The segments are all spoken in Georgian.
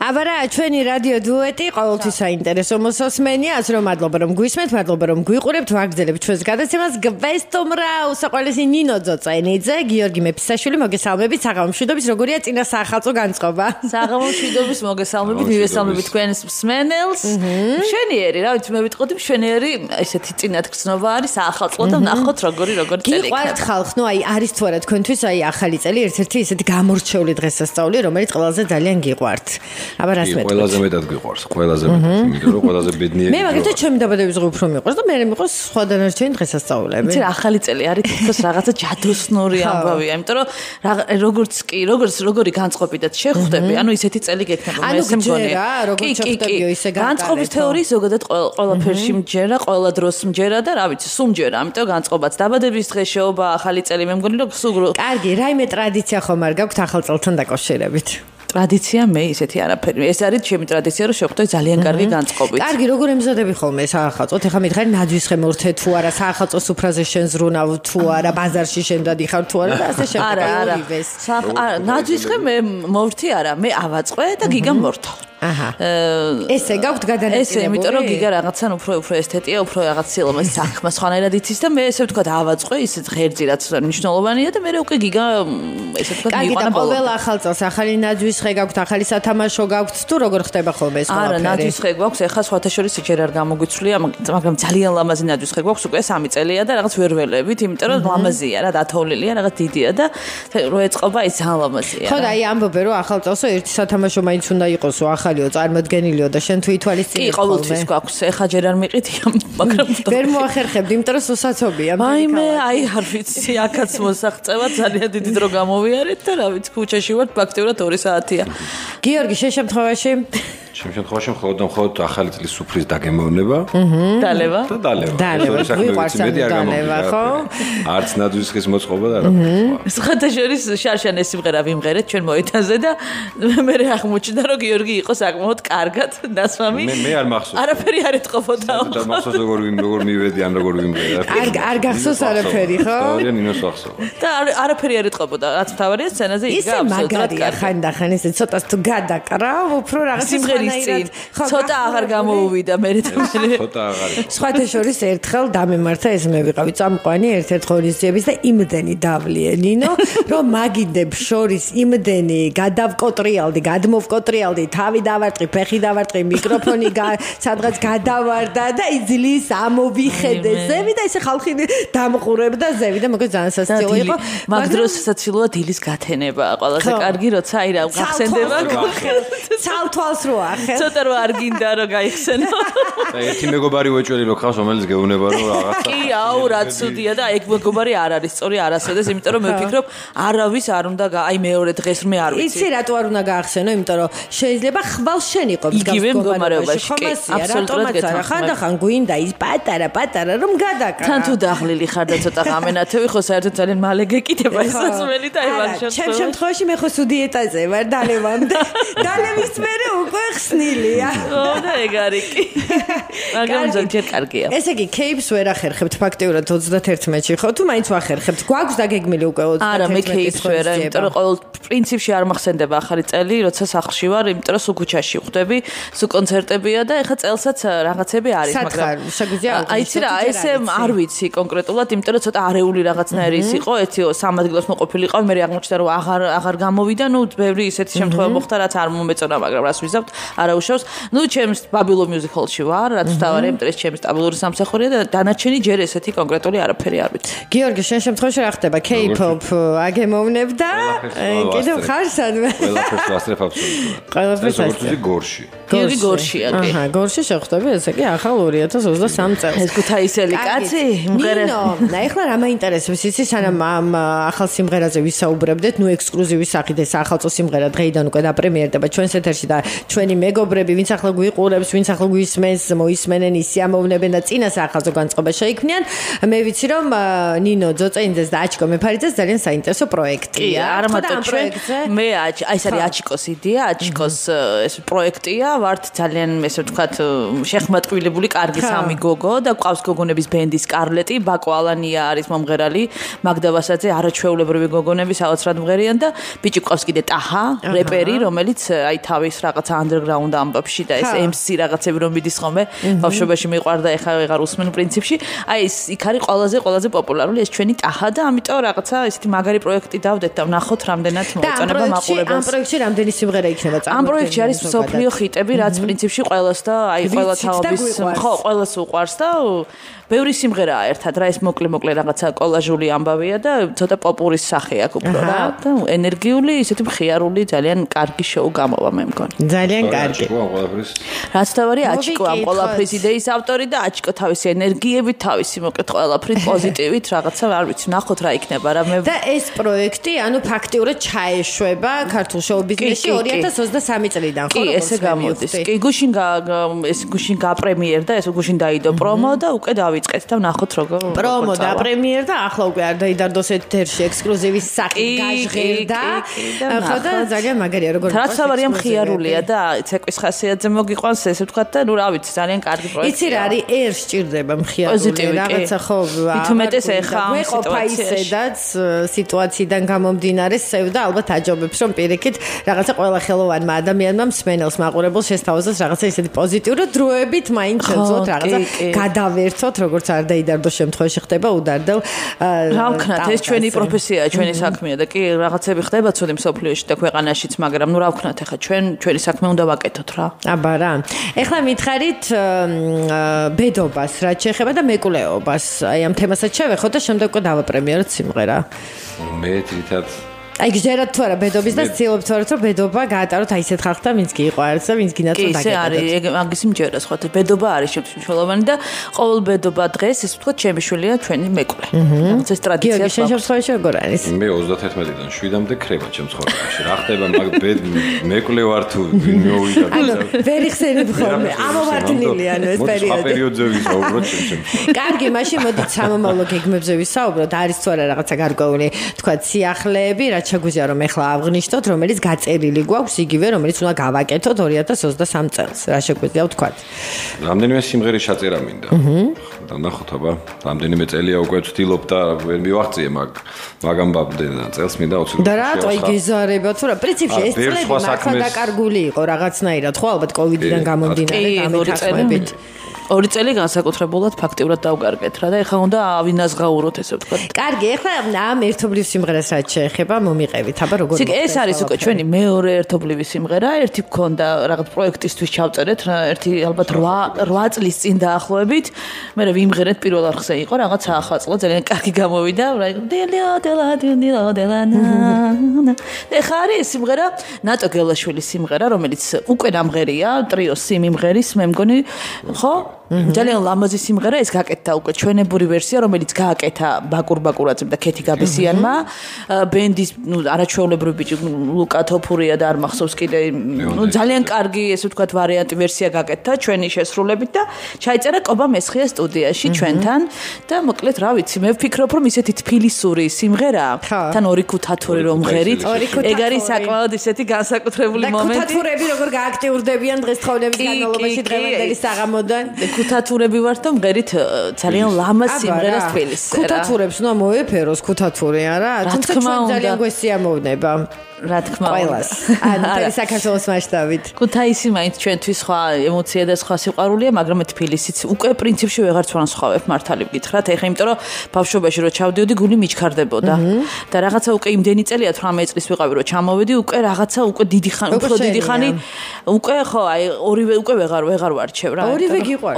აბა რა, ჩვენი რადიო დუეტი ყოველთვის საინტერესო მოსასმენია, ასე რომ მადლობა რომ გვისმენთ, მადლობა რომ გვიყურებთ, ვაგრძელებთ ჩვენს გადაცემას. გვესტუმრა უსაყვარლესი ნინო ძოწენიძე, გიორგი მეფისაშვილი, მოგესალმებით, საღამომშვიდობის, როგორია წინა საახალწლო განწყობა? საღამომშვიდობის, მოგესალმებით, მივესალმებით თქვენს მსმენელს. მშვენიერი, რა ვიცი, მე ვიტყოდი მშვენიერი, ესეთი წინათ გრძნობა არის საახალწლო და ვნახოთ როგორი წელი. გიყვართ ხალხ, ნუ აი არის თუ არა თქვენთვის აი ახალი წელი, ერთ-ერთი ესეთი გამორჩეული დღესასწაული, რომელიც ყველაზე ძალიან გიყვართ. აბა რას მეტყვით? ყველაზე მეტად გიყვარს, ყველაზე მეტად, იმიტომ რომ ყველაზე ბედნიერი. მე მაგალითად ჩემი დაბადების დღე უფრო მიყვარს და მე მიყვარს სხვა დანარჩენი დღესასწაულები. იცი რა ახალი წელი არის თითქოს რაღაცა ჯადოსნური ამბავია, იმიტომ რომ როგორი განწყობიდაც შეხვდები, ანუ ისეთი წელი გექნება მე ესე მგონია. როგორც შეხვდებიო ისე განწყობის თეორიის ზოგადად ყველაფერში მჯერა, ყველა დროს მჯერა და რა ვიცი, სულ მჯერა, ამიტომ განწყობაც დაბადების დღე შეობა, ახალი წელი მე მგონი რომ სულ კარგი, რაიმე ტრადიცია ხომ არ გაქვთ ახალ წელთან დაკავშირებით? ტრადიცია მე ისეთი არაფერი. ეს არის ჩემი ტრადიცია, რომ შევხვდე ძალიან კარგი განწყობით. კარგი, როგორ ემზადები ხოლმე საახალწლოდ? ეხლა მითხარი ნაძვისხე მორთე თუ არა, საახალწლო სუფრაზე შენ ზრუნავ თუ არა, ბაზარში შენ დადიხარ თუ არა და ასე შემდეგ. არა. ნაძვისხე მე მორთი არა, მე ავაწყვე და გიგამ მორთო. აჰა. ესე გაქვთ გადანაწილებული? ესე, იმიტომ რომ გიგა რაღაცან უფრო ესთეტია, უფრო რაღაც სილამაზის საქმე სხვანაირად იცის და მე ესე ვთქვათ ავაწყვე, ისე ღერძი რაც მნიშვნელოვანია და მე უკვე გიგა ესე ვთქვათ მიიყვანა ბოლომდე. ყოველ ახალ წელს ახალი ნაძვისხე გაქვთ, ახალი სათამაშო გაქვთ თუ როგორ ხდება ხოლმე ეს ყველაფერი? არა, ნაძვისხე გვაქვს, ეხლა სხვათა შორის ჯერ არ გამოგვიცვლია, მაგრამ ძალიან ლამაზი ნაძვისხე გვაქვს, უკვე 3 წელია და რაღაც ვერ ველებით, იმიტომ რომ ლამაზია რა, დათოვლილია, რაღაც დიდია და რო ეწყობა ის ძალიან ლამაზია. ხო და აი ამბობე რომ ახალ წელსო ერთი სათამაშო მაინც უნდა იყოსო, ახალიო, წარმოდგენილიო და შენ თუ ითვალისწინებ ხოლმე. კი, ყოველთვის გვაქვს, ეხლა ჯერ არ მიყიდია, მაგრამ ვერ მოახერხებდი, იმიტომ რომ სუსაცობია. მაიმე, აი არ ვიცი, აქაც მოსაღწევა ძალიან დიდი დრო გამოვიარეთ და რა ვიცი, ქუჩაში ვართ, ფაქტიურად 2 საათია. გიორგი, შენ შემთხვევაში? ჩემ შემთხვევაში მხოლოდ ახალი წლის სუფრის დაგემოვნება. დალევა. ვიყვარს დალევა, ხო? არც ნაძვისხის მოწყობა და რა. სხვათა შორის შარშან ეს სიმღერა ვიმღერეთ ჩვენ მოედანზე და მე აღმოჩნდა რომ გიორგი იყო საკმაოდ კარგად დასვამი. მე არ მახსოვს. არაფერი არ ეთყობოდა. და მახსოვს როგორ მივედი ან როგორ ვიმღერე. არ გახსოვს არაფერი, ხო? სწორია, ნინოს ახსოვს. და არაფერი არ ეთყობოდა. რაც თავარია სცენაზე იდგა აბსოლუტურად კარგი. ხანდახან ესე ცოტა თუ გადაკრავ, უფრო რაღაც სიმღერის წინ ცოტა აღარ გამოუვიდა მე ცოტა აღარ. სხვათა შორის ერთხელ დამემართა ეს მე ვიყავი წამყვანი ერთ-ერთ ღონისძიების და იმდენი დავლიე ნინო, რომ მაგიდებს შორის იმდენი გადავკოტრიალდი, გადმოვკოტრიალდი, თავი დავარტყი, ფეხი დავარტყი, მიკროფონი სადღაც გადავარდა და იძლის ამოვიხედე ზევი და ესე ხალხი დამყურებდა ზევი და მოგე ძალიან სასაცილო იყო. მაგ დროს სასაცილოა დილის გათენება, ყველაზე კარგი როცა აი რა გახსენდება ცალთვალს რო ახე. ცოტა რო არ გინდა რომ გაიხსენო. და ერთი მეგობარი უეჭველი რო ხავს, რომელიც გეუბნება რომ რაღაცა. კი, აუ რა ცუდია და ეგ მეგობარი არ არის სწორი არასოდეს, იმიტომ რომ მე ვფიქრობ, არავის არ უნდა აი მეორე დღეს მე არ ვიცი. იცი რატო არ უნდა გაახსენო, იმიტომ რომ შეიძლება ხვალ შენ იყო იგივე მდგომარეობაში, კი, აბსოლუტურად გეთანხმებით. ხანდახან გვინდა ის პატარა რომ გადაკრა. თან თუ დაღლილი ხარ და ცოტა გამენათევი, ხო საერთოდ ძალიან მალე გეკიდება ეს სასმელი და ევან ჩემ შემთხვევაში მე ხო სუდიეტაზე ვარ დალევამდე. დალევის მერე უკვე ხსნილია. ო და ეგ არის კი. მაგრამ ძალიან კარგია. ესე იგი, кейპს ვერ ახერხებთ ფაქტიურად 31-ში, ხო? თუ მაინც ვახერხებთ, გვაქვს დაგეგმილი უკვე 31-ში. არა, მე кейპს ვერ, იმიტომ რომ ყოველ პრინციპში არ მახსენდება ახალი წელი, როცა სახლში ვარ, იმიტომ რომ სულ ქუჩაში ხვდები, სულ კონცერტებია და ეხა წელსაც რაღაცები არის, მაგრამ შეგვიძლია აიცი რა, ესე არ ვიცი კონკრეტულად, იმიტომ რომ ცოტა არეული რაღაცნაირი ის იყო, ერთი სამადგილოს მოყოფილიყავ, მე აღმოჩნდა რომ აღარ გამოვიდა, ნუ ბევრი ისეთი შემთხვევა მოხდა, რაც არ მომეწონა, მაგრამ რას ვიზავთ, არაუშავს. ნუ ჩემს ბაბილონ მიუზიკ-ჰოლში ვარ, რაც თავარი, იმიტომ რომ ჩემს სტაბილური სამსახურია და დანარჩენი ჯერ ესეთი კონკრეტული არაფერი არ ვიცი. გიორგი, შენ შემთხვევაში რა ხდება? K-pop აგემოვნებ და კიდევ ხარ სადმე? ყველაფერს ვასწრებ აბსოლუტურად. ყველაფერს ვასწრებ გორში. გიორგი გორშია კი. აჰა, გორში შეხვდები, ესე იგი ახალ 2023 წელს. ეს ქუთაისელი კაცი, მღერე. ნინო, ეხლა რა მაინტერესებს, იცი, სანამ ამ ახალ სიმღერაზე ვისაუბრებდეთ, ნუ ექსკლუზივის სახით ეს ახალწო სიმღერა დღეიდან უკვე დაპრემიერდება ჩვენს ეთერში და ჩვენი მეგობრები, ვინც ვინც ახლა გვიყურებს, ვინც ახლა გვისმენს, მოისმენენ, ისიამოვნებენ და წინა სახაზო განწყობა შეიქმნიან. მე ვიცი რომ ნინო ძოწენიძეს და აჩიკო მეფარიძეს ძალიან საინტერესო პროექტია. არა მარტო ჩვენ მე აი ეს არის აჩიკოს იდეა, აჩიკოს ეს პროექტია, ვართ ძალიან ესე ვთქვათ შეხმატკივრებული კარგი სამი გოგო და ყავს გოგონების ბენდი სკარლეტი, ბაკო ალანია არის მომღერალი, მაგდა ვასაძე არაჩვეულებრივი გოგონები საოცრად მღერიან და ბიჭი ყავს კიდე ტაჰა, რეპერი, რომელიც აი თავის რაღაცა underground ამბებში და ეს MC რაღაცები რომ მიდის ხოლმე, ბავშვობაში მიყვარდა, ეხლა ვეღარ უსმენ პრინციპში. აი ეს იქ არის ყველაზე პოპულარული ეს ჩვენი ტაჰა და ამიტომ რაღაცა ესეთი მაგარი პროექტი დავდეთ და ვნახოთ რამდენად მოეწონება მაყურებელს. ამ პროექტში რამდენი სიმღერა იქნება ამ პროექტში არის მსოფლიო ხიტები, რაც პრინციპში ყველას და აი ყველა თაობის ხო ყველას უყვარს და ბევრი სიმღერაა ერთად რა ეს მოკლე რაღაცა კოლაჟული ამბავია და ცოტა პოპურის სახე აქვს უფრო რა და ენერგიული ისეთი მხიარული ძალიან კარგი შოუ გამოვა მე მგონი. ძალიან კარგი. რაც თავარი აჩიკო ამ ყველაფრის იდეის ავტორი და აჩიკო თავისი ენერგიებით, თავისი მოკლედ ყველაფრით პოზიტივით რაღაცა არ ვიცი ნახოთ რა იქნება რა მე და ეს პროექტი ანუ ფაქტიურად ჩაეშვება ქართულ შოუ ბიზნესში 2023 წლიდან ხო? კი, ესე გამოდის. კი, გუშინ გაპრემიერდა, ეს გუშინ დაიდო პრომო და უკვე დავიწყეთ და ვნახოთ როგორ პრომო და პრემიერდა, ახლა უკვე არ დაიდარდოს ეთერში ექსკლუზივის სახით გაჟღერდა. ხო და ძალიან მაგარია როგორ რაც თავარია მხიარულია და ცეკვის ხასიათზე მოგიყვანს ესე ვთქვათ და ნუ რა ვიცი ძალიან კარგი პროექტია. იცი რა არის ერთ სჭირდება მხიარული რაღაცა ხო ითუმეტეს ეხა ვეყოფა ისედაც სიტუაციიდან გამომდინარე სევდა ალბათ აჯობებს რომ პირიქით რაღაცა ყველა ხელოვანმა ადამიანმა მსმენელს მაყურებელს შესთავაზოს რაღაცა ისეთი პოზიტიური დროებით მაინც შეძლოთ რაღაცა გადავერთოთ როგორც არ დაიდარდოს შემთხვევაში ხდება უდარდელ რა ვქნათ ეს ჩვენი პროფესიაა ჩვენი საქმეა და კი რაღაცები ხდება ცუდი მსოფლიოში და ქვეყანაშიც მაგრამ ნუ რა ვქნათ ეხა ჩვენი საქმე უნდა ვაკეთოთ რა აბა რა ეხლა მითხარით ბედობას რაც შეეხება და მეკვლეობას აი ამ თემასაც შევეხოთ და შემდეგ უკვე დავაპრემიეროთ სიმღერა მე თვითონ აი გჯერათ თუ არა ბედობის და ცდილობთ თუ არა რომ ბედობა გაატაროთ აი ესეთ ხალხთან ვინც გიყვარს და ვინც გინათო დაგეკეთოთ. კი, ეს არის მაგის მჯერა სხვა ბედობა არის შემთხვევაში და ყოველ ბედობა დღეს ეს ვთქვათ ჩემი შვილია ჩვენი მეკვლე. რაღაც ეს ტრადიცია. გიორგი შენ შემთხვევაში როგორ არის? მე 31-დან 7-მდე ქრება ჩემ ცხოვრებაში. რა ხდება მაგ მეკვლე ვარ თუ მოვიდა და ვერ იხსენებ ხოლმე. ამოვარდნილი ანუ ეს პერიოდი. ამ პერიოდზე ვისაუბროთ ჩემ. კარგი, მაშინ მოდით სამომავლო გეგმებზე ვისაუბროთ. არის თუ არა რაღაცა გარკვეული ვთქვათ სიახლეები რა შეგვიძლია რომ ეხლა აღნიშნოთ რომელიც გაწერილი გვაქვს იგივე რომელიც უნდა გავაკეთოთ 2023 წელს რა შეგვიძლია ვთქვათ რამდენიმე სიმღერის ჩაწერა მინდა და ნახოთ აბა რამდენიმე წელია უკვე ვთილობ და ვერ მივაღწიე მაგ ამბამდე წელს მინდა 20 და რატო იგეზარება თუ რა პრინციპში ეს წლები მართლა დაკარგული იყო რაღაცნაირად ხო ალბათ კოვიდიდან გამომდინარე გამეთახმებით 2 წელი განსაკუთრებულად ფაქტიურად დავგარგეთ რა და ეხლა უნდა ავინაზღაუროთ ესე ვთქვათ. კარგი, ეხლა ამ ერთობლივ სიმღერას რაც შეეხება მომიყევით, აბა როგორ მოხდა? ეს არის უკვე ჩვენი მეორე ერთობლივი სიმღერა, ერთი გქონდა რაღაც პროექტისთვის ჩავწერეთ, ერთი ალბათ 8 წლის წინ დაახლოებით. მე ვიმღერეთ პირველ არხზე იყო რაღაც ახლა წლა ძალიან კარგი გამოვიდა. ეხლა არის სიმღერა ნატო გელაშვილის სიმღერა, რომელიც უკვე დამღერია, ტრიოს სიმღერის, მე მგონი, ხო? ძალიან ლამაზი სიმღერა ეს გაკეთდა უკვე ჩვენებური ვერსია რომელიც გააკეთა ბაკურ ბაკურაძემ და ქეთი გაბესიანმა ბენდის არაჩვეულებრივი ბიჭი ლუკა თოფურია და არ მახსოვს კიდე ძალიან კარგი ესე ვთქვათ ვარიანტი ვერსია გაკეთდა ჩვენი შესრულებით და ჩაიწერა კობა მესხია სტუდიაში ჩვენთან და მოკლედ რა ვიცი მე ვფიქრობ რომ ისეთი თბილისური სიმღერა თან ორი ქუთათური რომ ღერით ეგ არის საკმაოდ ისეთი განსაკუთრებული მომენტი და ქუთათურები როგორ გააქტიურდებიან დღესდღეობის განმავლობაში დღევანდელი საღამოდან ქუთათურები ვართ და მღერით ძალიან ლამაზ სიმღერას თბილისს რა ქუთათურებს უნდა მოეფეროს ქუთათური არა თუმცა ჩვენ ძალიან გვესიამოვნება რა თქმა უნდა ანუ საქართველოს მასშტაბით ქუთაისი მაინც ჩვენთვის სხვა ემოცია და სხვა სიყვარულია მაგრამ თბილისიც უკვე პრინციპში ვეღარც ვანსხვავებ მართალი ვკითხრათ ეხლა იმიტომ რომ ბავშვობაში რო ჩავდიოდი გული მიჩქარდებოდა და რაღაცა უკვე იმდენი წელია 18 წლის ვიყავი რო ჩამოვედი უკვე რაღაცა უკვე დიდი ხანი უკვე ხო აი ორივე უკვე ვეღარ ვარჩევ რა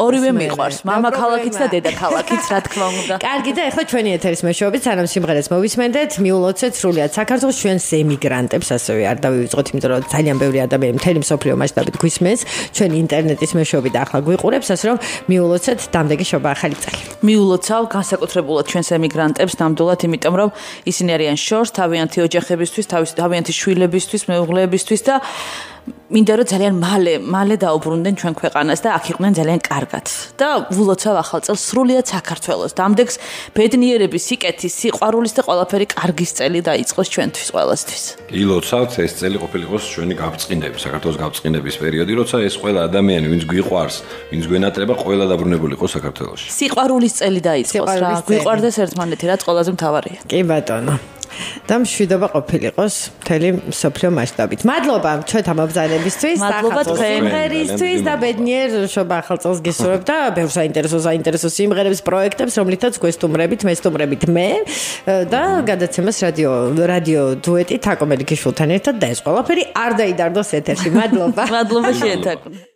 ორივე მიყვარს მამა ქალაქიც და დედა ქალაქიც რა თქმა უნდა კარგი და ეხლა ჩვენი ეთერის მეშვეობით სანამ სიმღერას მოვისმენდეთ მიულოცეთ სრულიად საქართველოს ჩვენს ემიგრანტებს ასევე არ დავივიწყოთ იმიტომ რომ ძალიან ბევრი ადამიანი მთელი მსოფლიო მასშტაბით გვისმენს ჩვენი ინტერნეტის მეშვეობით ახლა გვიყურებს ასე რომ მიულოცეთ დამდეგი შობა ახალი წელი მიულოცავ განსაკუთრებულად ჩვენს ემიგრანტებს ნამდვილად იმიტომ რომ ისინი არიან შორს თავიანთი ოჯახებისთვის თავიანთი შვილებისთვის მეუღლეებისთვის და მინდა რომ ძალიან მალე დაუბრუნდნენ ჩვენ ქვეყანას და აქ იყვნენ ძალიან კარგად. და ვილოცავ ახალ წელს სრულიად საქართველოს. დამდეგს ბედნიერების, სიკეთის, სიყვარულის და ყველაფერი კარგის წელი დაიწყოს ჩვენთვის ყველასთვის. ილოცავთ ეს წელი ყოფილიყოს ჩვენი გაბრწყინდების, საქართველოს გაბრწყინდების პერიოდი, როცა ეს ყველა ადამიანი, ვინც გვიყვარს, ვინც გვენატრება, ყველა დაბრუნებული იყოს საქართველოში. სიყვარულის წელი დაიწყოს რა. გვიყვარდეს ერთმანეთი, რაც ყველაზე მთავარია. კი ბატონო. და მშვიდობა ყოფილიყოს მთელი მსოფლიო მასშტაბით. მადლობა ჩვენთან მობრძანებისთვის, სიმღერისთვის და ბედნიერ შობა ახალ წელს გისურვებ და ბევრ საინტერესო სიმღერებს, პროექტებს, რომლითაც გვესტუმრებით, მესტუმრებით მე და გადაცემას რადიო დუეტი თაკო მელიქიშვილთან ერთად და ეს ყველაფერი არ დაიდარდოს ეთერში. მადლობა. მადლობა შეეთაკვნა.